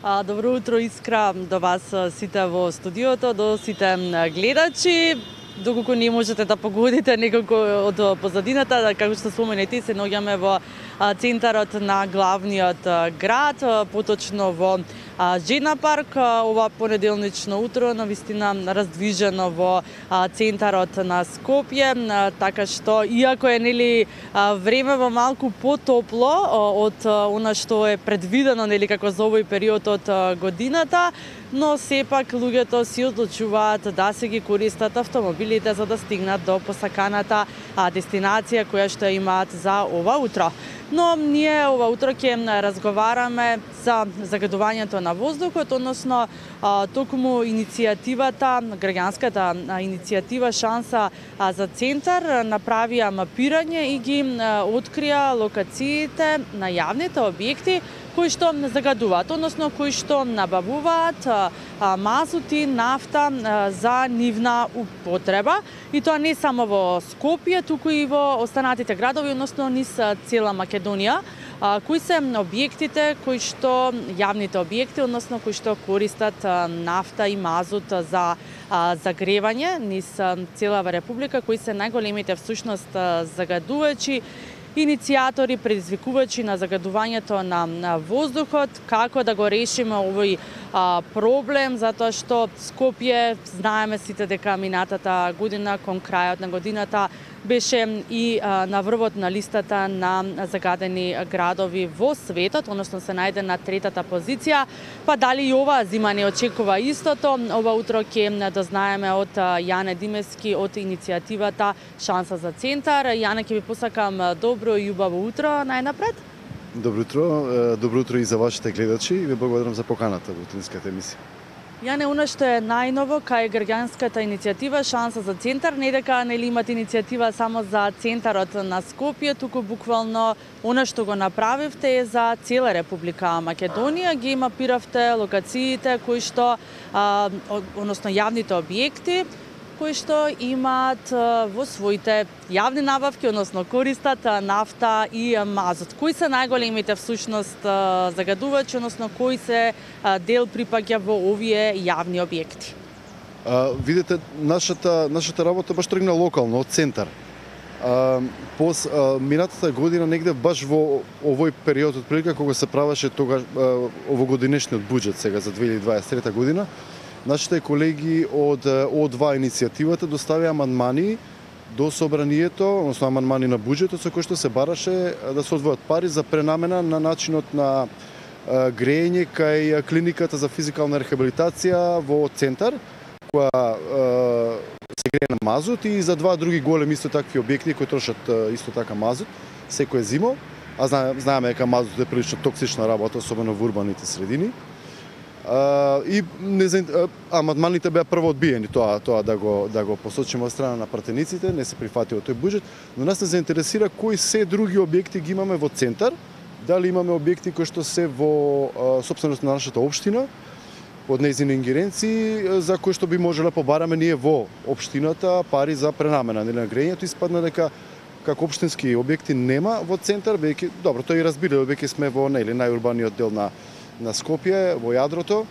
Добро утро, Искра, до вас сите во студиото, до сите гледачи. Доколку не можете да погодите некако од позадината, како што споменете, се наоѓаме во центарот на главниот град, поточно во Жена парк. Ова понеделнично утро навистина раздвижено во центарот на Скопје, така што иако е времево малку потопло од она што е предвидено како за овој период од годината, но сепак луѓето си одлучуваат да се ги користат автомобилите за да стигнат до посаканата дестинација која што имаат за ова утро. Но ние ова утро ќе разговараме за загадувањето на воздухот, односно токму иницијативата, граѓанската иницијатива Шанса за центар направија мапирање и ги открија локациите на јавните објекти кои што загадуваат, односно кои што набавуваат мазути, нафта за нивна употреба. И тоа не само во Скопје, туку и во останатите градови, односно низ цела Македонија. Кои се објектите кои што јавните објекти, односно кои што користат нафта и мазут за загревање низ целава република, кои се најголемите всушност загадувачи, иницијатори, предизвикувачи на загадувањето на воздухот, како да го решиме овој проблем, затоа што Скопје, знаеме сите дека минатата година, кон крајот на годината, беше и на врвот на листата на загадени градови во светот, односно се најде на третата позиција. Па дали и ова зима не очекува истото? Ова утро ќе дознаеме од Јане Димевски од иницијативата Шанса за центар. Јане, ќе ви посакам добро и убаво утро најнапред. Добро утро и за вашите гледачи и ви благодарам за поканата во утринската емисија. Јане, она што е најново кај граѓанската иницијатива Шанса за центар, не дека имате иницијатива само за центарот на Скопје, туку буквално она што го направивте е за цела Република Македонија, ги мапиравте локациите кои што, односно јавните објекти, кои што имаат во своите јавни набавки, односно користат нафта и мазут. Кои се најголемите всушност загадувачи, односно кој се дел припаѓа во овие јавни објекти? Видете, нашата работа баш тргна локално, од центар. Минатата година негде баш во овој период од прилика кога се правеше тогаш овогодинешниот буџет сега за 2023 година, нашите колеги од О2 иницијативата доставија амандмани до собранието, односно амандмани на буџетот со кој што се бараше да се одвојат пари за пренамена на начинот на грејење кај клиниката за физикална рехабилитација во центар, која се грее на мазут, и за два други големи исто такви објекти кои трошат исто така мазут секој зимо. А знаеме дека мазут е прилично токсична работа, особено во урбаните средини. И амандманите беа прво одбиени, тоа да го посочиме од страна на пратениците, не се прифати тој буџет, но нас не заинтересира кои се други објекти ги имаме во центар, дали имаме објекти кои што се во сопственост на нашата општина, под нејзини ингеренции, за кои што би можеле побараме ние во општината пари за пренамена на грејењето. Испадна дека како општински објекти нема во центар, веќе добро, тоа и разбира, веќе сме во најурбаниот дел на Скопје, во јадрото,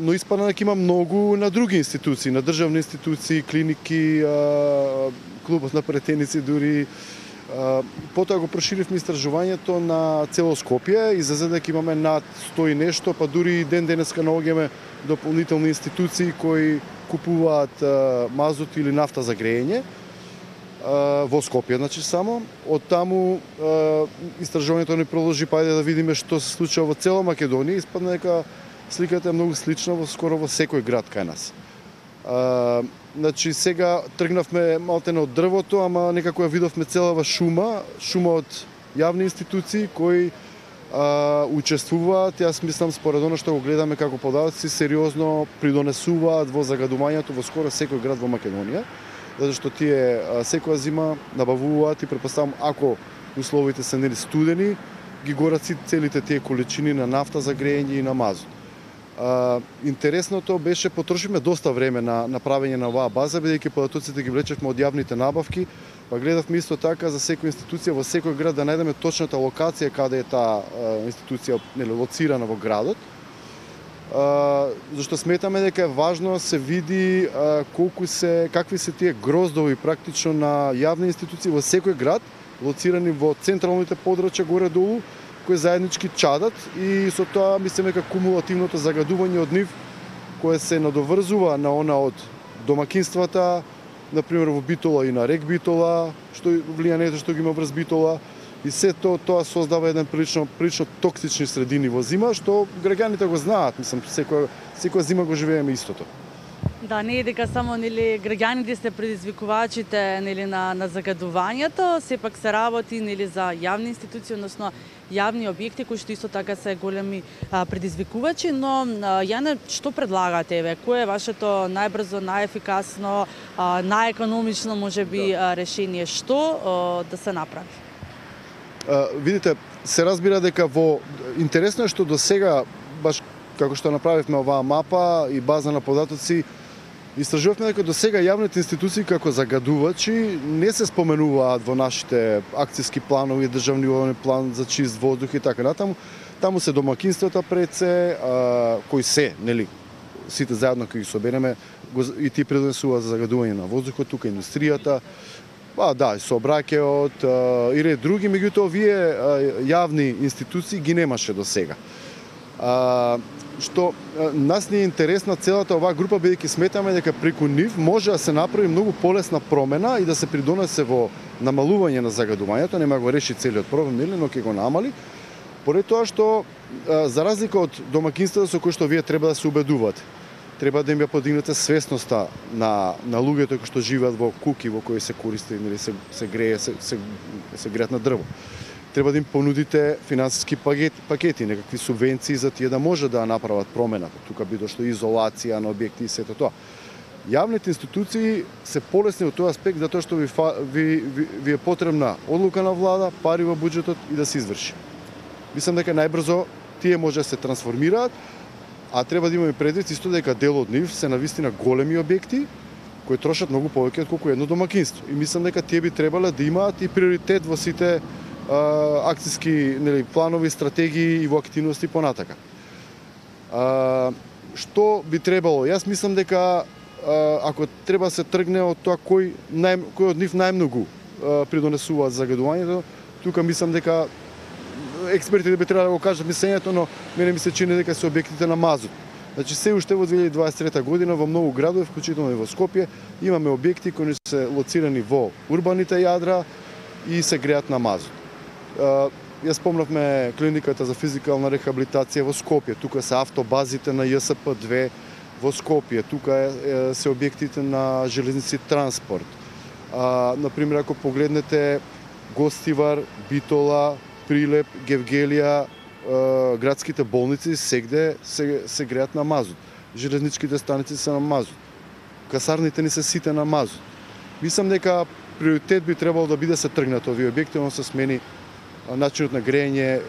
но испадна дека има многу на други институции, на државни институции, клиники, клубот на претеници дури. Потоа го проширивме истражувањето на цело Скопје, излезе дека имаме над 100 и нешто, па дури и денеска наоѓаме дополнителни институции кои купуваат мазут или нафта за грејење во Скопје, значи само. Од таму истражувањето ни продолжи, па ајде да видиме што се случува во цела Македонија. Испадна дека сликата е многу слична скоро во секој град кај нас. Значи сега тргнавме малтене од дрвото, ама некако ја видовме целава шума од јавни институции кои учествуваат. Јас мислам, според оно што го гледаме како податоци, сериозно придонесуваат во загадувањето во скоро секој град во Македонија, затоа што тие секоја зима набавуваат и претпоставам, ако условите се студени, ги горат целите тие количини на нафта за грејење и на мазут. Интересното беше, потрошивме доста време на правење на оваа база, бидејќи податоците ги влечевме од јавните набавки, па гледавме исто така за секоја институција во секој град да најдеме точната локација каде е таа институција лоцирана во градот, зашто сметаме дека е важно се види какви се тие гроздови практично на јавни институции во секој град, лоцирани во централните подрачја горе-долу, кои заеднички чадат и со тоа мислиме дека кумулативното загадување од нив кое се надоврзува на она од домакинствата, например во Битола и на рек Битола, што влијанието што ги има врз Битола, и се тоа создава еден прилично токсични средини во зима, што граѓаните го знаат, мислам, секоја зима го живееме истото. Да, не е дека само граѓаните се предизвикувачите на загадувањето, сепак се работи за јавни институции, односно јавни објекти кои што исто така се големи предизвикувачи, но Јане, што предлагате еве? Кое е вашето најбрзо, најефикасно, најекономично можеби решение? Што да се направи? Видите, се разбира дека интересно е што до сега, баш како што направивме оваа мапа и база на податоци, истражувавме дека до сега јавните институции како загадувачи не се споменуваат во нашите акцијски планови, државни план за чист воздух и така натаму. Таму се домакинствата пред се, кои се, нели, сите заедно кога ги собереме, и ти предонесуваат за загадување на воздухот, тука индустријата, да, и сообраќајот и ред други, меѓутоа овие јавни институции ги немаше до сега. Што нас не е интересна целата оваа група, бидејќи сметаме дека преку нив може да се направи многу полесна промена и да се придонесе во намалување на загадувањето, нема го реши целиот проблем, нели, но ќе го намали, поради тоа што за разлика од домакинствата со кои што вие треба да се убедувате, треба да им ја подигнете свесноста на луѓето кои што живеат во куки во кои се користи, нели, се греат на дрво. Треба да им понудите финансиски пакети, некакви субвенции за тие да може да направат промената. Тука би дошло изолација на објекти и сето тоа. Јавните институции се полесни од тој аспект затоа што ви е потребна одлука на влада, пари во буџетот и да се изврши. Мислам дека најбрзо тие може да се трансформираат, а треба да имаме предвид исто дека дел од нив се навистина големи објекти кои трошат многу повеќе отколку едно домакинство. И мислам дека тие би требале да имаат и приоритет во сите акцијски, нели, планови, стратегии и во активности понатака. Што би требало? Јас мислам дека ако треба се тргне од тоа кој од нив најмногу придонесуваат загадувањето, тука мислам дека експертите би требало да го кажат мислењето, но мене ми се чини дека се објектите на мазут. Значи се уште во 2023 година во многу градови, вклучително и во Скопје, имаме објекти кои се лоцирани во урбаните јадра и се греат на мазут. Ја спомнавме клиниката за физикална рехабилитација во Скопје, тука се автобазите на ЈСП-2 во Скопје, тука се објектите на железници транспорт. Например, ако погледнете Гостивар, Битола, Прилеп, Гевгелија, градските болници сегде се греат на мазут. Железничките станици се на мазут. Касарните ни се сите на мазут. Мислам дека приоритет би требало да биде се тргнат овие објекти, но се смени начинот на грејење,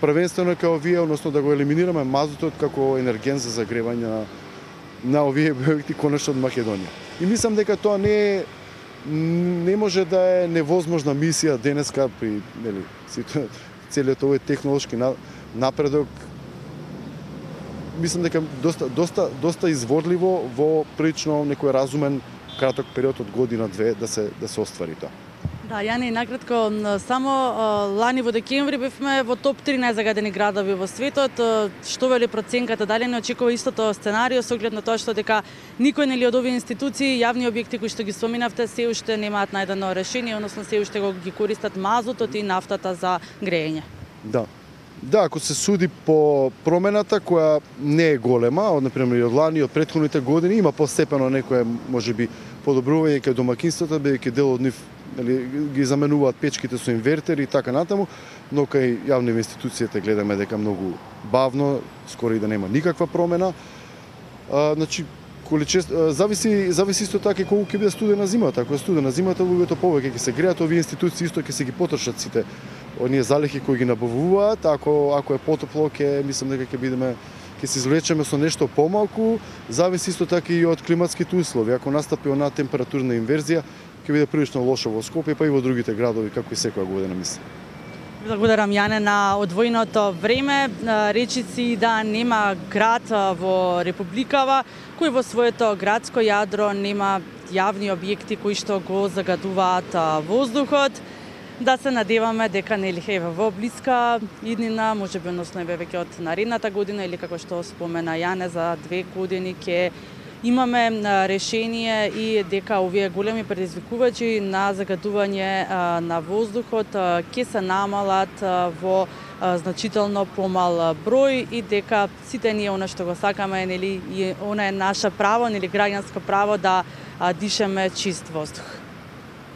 првенствено како овие, односно да го елиминираме мазутот како енерген за загревање на овие објекти конечно од Македонија. И мислам дека тоа не може да е невозможна мисија денеска при, нели, целиот овој технолошки напредок. Мислам дека доста изворливо во прилично некој разумен краток период од година-две да се оствари тоа. Да, Јане, накратко, само лани во декември бевме во топ 3 најзагадени градови во светот. Што вели проценката? Дали не очекува истото сценарио со оглед на тоа што дека никој нели од овие институции, јавни објекти кои што ги споминавте, се уште немаат најдено решение, односно се уште ги користат мазутот и нафтата за грејење? Да, ако се суди по промената која не е голема, од например од лани, од претходните години, има постепено некое можеби подобрување кај домакинствата, бидејќи дел од нив ги заменуваат печките со инвертери и така натаму, но кај јавни институциите гледаме дека многу бавно, скоро и да нема никаква промена. Значи, зависи исто така колку ќе биде студена зимата. Ако е студена зимата, луѓето повеќе ќе се греат, овие институции исто ќе се ги потрошат сите оние залихи кои ги набавуваат. Ако е потопло, мислам дека ќе се извлечеме со нешто помалку. Зависи исто така и од климатските услови. Ако настапи онаа температурна инверзија, ќе биде прилично лошо во Скопје, па и во другите градови, како и секоја година, мислам. Благодарам, Јане, на одвоеното време. Речи си да нема град во Републикава кој во своето градско јадро нема јавни објекти кои што го загадуваат воздухот. Да се надеваме дека нели во блиска иднина, можеби односно веќе од наредната година или како што спомена Јане за 2 години ќе имаме решение и дека овие големи предизвикувачи на загадување на воздухот ќе се намалат во значително помал број и дека сите ние она што го сакаме, нели, и она е наше право, нели, граѓанско право да дишеме чист воздух.